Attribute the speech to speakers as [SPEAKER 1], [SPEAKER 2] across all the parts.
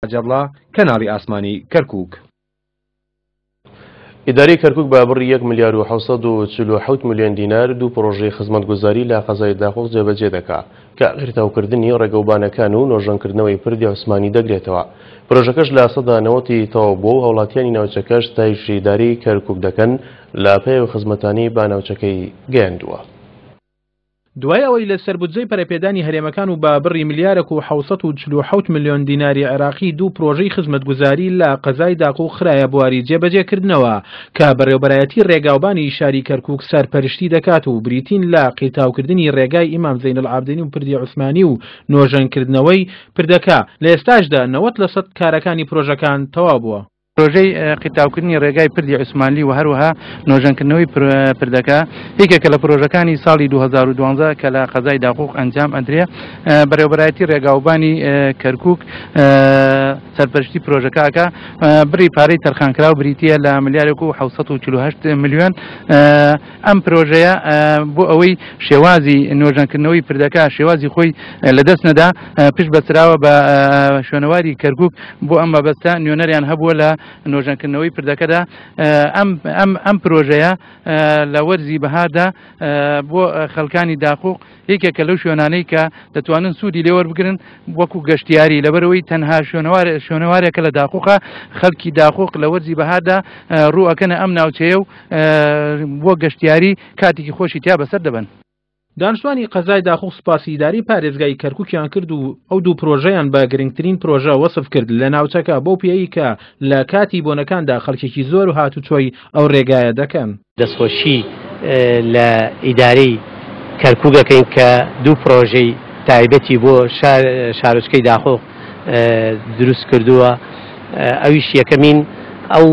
[SPEAKER 1] حاجی کەناڵی ئاسمانی کەرکوک.
[SPEAKER 2] ئیدارەی کەرکوک بە بڕی یەک ملیار و 747 ملیۆن دینار دوو پڕۆژەی خزمەتگوزاری لە قەزای داقوق جێبەجێ دەکا کە قیرتاوکردنی ڕێگەوبانەکان و نۆژەنکردنەوەی پردی عوسمانی دەگرێتەوە. پرۆژەکەش لە 90% تەواو بووە و هاوڵاتیانی ناوچەکەش ستایشی ئیدارەی کەرکوک دەکەن لە پێی ئەو خزمەتانەی بە ناوچەکەی گەیاندووە.
[SPEAKER 3] دوای ئەوەی لە سەر بودجەی پەرەپێدانی هەرێمەکان و بە بڕی ملیارێک و 747 ملیۆن دیناری عێراقی دوو پرۆژەی خزمەتگوزاری لە قەزای داقوق خرایە بواری جێبەجێکردنەوە کە بەڕێوبەرایەتی ڕێگاوبانی شاری کەرکوک سەرپەرشتی دەکات و بریتین لە قیرتاوکردنی ڕێگای ئیمام زەینەلعابدین و پردی عوسمانی و نۆژەنکردنەوەی پردەکە، لە ئێستاشدا 90 لەسەد کارەکانی پرۆژەکان تەواو بووە.
[SPEAKER 4] پرۆژەی قیرتاوکردنی ڕێگای پردی عوسمانلی و هەروەها نۆژەنکردنەوەی پردەکە یەکێکە لە پرۆژەکانی ساڵی 2012 کە لە قەزای داقوق ئەنجام ئەدرێ. بەڕێوەبەرایەتی ڕێگاوبانی کەرکوک سەرپەرشتی پرۆژەکەکە. بڕی پارەی تەرخانکراو بریتییە لە ملیارێک و 748 ملیۆن. ئەم پرۆژەیە بۆ ئەوەی شێوازی نۆژەنکردنەوەی پردەکە شێوازی خۆی لەدەست نەدا پشت بەسراوە بە شوێنەواری کەرکوک. بۆ ئەم مەبەستە نوێنەریان هەبووە لە نۆژەنکردنەوەی پردەکەدا. ئەم ئەم ئەم پرۆژەیە لە وەرزی بەهاردا بۆ خەڵکانی داقوق یەکێکە لەو شوێنانەی کە دەتوانن سوودی لێوەربگرن وەکو گەشتیاری، لەبەرەوەی تەنها شوێنەوارێکە لە داقوقە. خەڵکی داقوق لە وەرزی بەهاردا ڕوو ئەکەنە ئەم ناوچەیە و بۆ گەشتیاری کاتێکی خۆشی تیا بەسەر دەبەن.
[SPEAKER 3] دانیشتوانی قەزای داقوق سوپاسی ئیدارەی پارێزگای کەرکوکیان کرد و ئەو دوو پرۆژەیان بە گرنگترین پرۆژە وەسف کرد لە ناوچەکە، بەو پێیەی کە لە کاتی بۆنەکاندا خەڵکێکی زۆر هاتوچۆی ئەو رێگایە دەکەن.
[SPEAKER 5] دەستخۆشی لە ئیدارەی کەرکوک ئەکەین کە دوو پرۆژەی تایبەتی بۆ شارۆچکەی داقوق دروست کردووە، ئەویش یەکەمین ئەو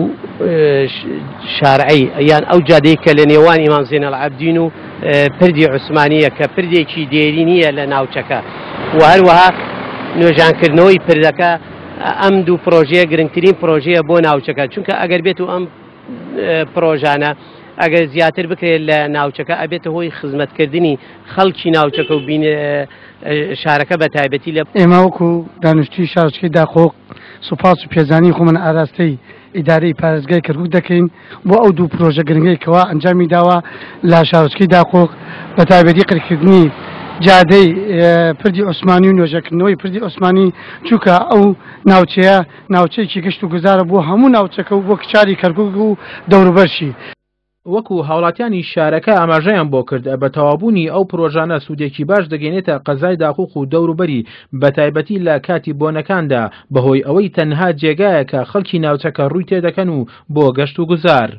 [SPEAKER 5] شارعی یان ئەو جادەی کە لە نێوان ئیمام زێنەڵعابدین و پردی عوسمانیە کە پردێکی دێرینیە لە ناوچەکە و هەروەها نۆژانکردنەوەی پردەکە. ئەم دوو پرۆژەیە گرنگترین پرۆژەیە بۆ ناوچەکە، چونکە ئەگەر بێت و ئەم پرۆژانە ئەگەر زیاتر بکرێت لە ناوچەکە ئەبێتە هۆی خزمەتکردنی خەڵکی ناوچەکە و بین شارەکە بە تایبەتی لە
[SPEAKER 6] ئێمە وەکو دانیشتووی شارۆچکەی داقوق سوپاس و پێزانینی خۆمان ئاراستەی ئیدارەی پارێزگای کەرکوک دەکەین بۆ ئەو دوو پرۆژە گرنگەی کەوا ئەنجامی داوە لە شارۆچکەی داقوق، بە تایبەتی قرکردنی جادەی پردی عوسمانی و نۆژەکردنەوەی پردی عوسمانی، چونکە ئەو ناوچەیە ناوچەیەکی گەشت و گوزارە بۆ هەموو ناوچەکە و بۆ کچاری کەرکوک و دەوروبەرشی.
[SPEAKER 3] وەکو هاوڵاتیانی شارەکە ئاماژەیان بۆ کرد، بە تەواوبوونی ئەو پرۆژانە سوودێکی باش دەگەینێتە قەزای داقوق و دەوروبەری، بەتایبەتی لە کاتی بۆنەکاندا، بەهۆی ئەوەی تەنها جێگایەکە خەڵکی ناوچەکە ڕووی تێدەکەن و بۆ گەشت و گوزار.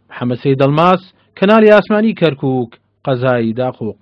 [SPEAKER 3] محەمەد سەید ئەڵماس، کەناڵی ئاسمانی کەرکوک، قەزای داقوق.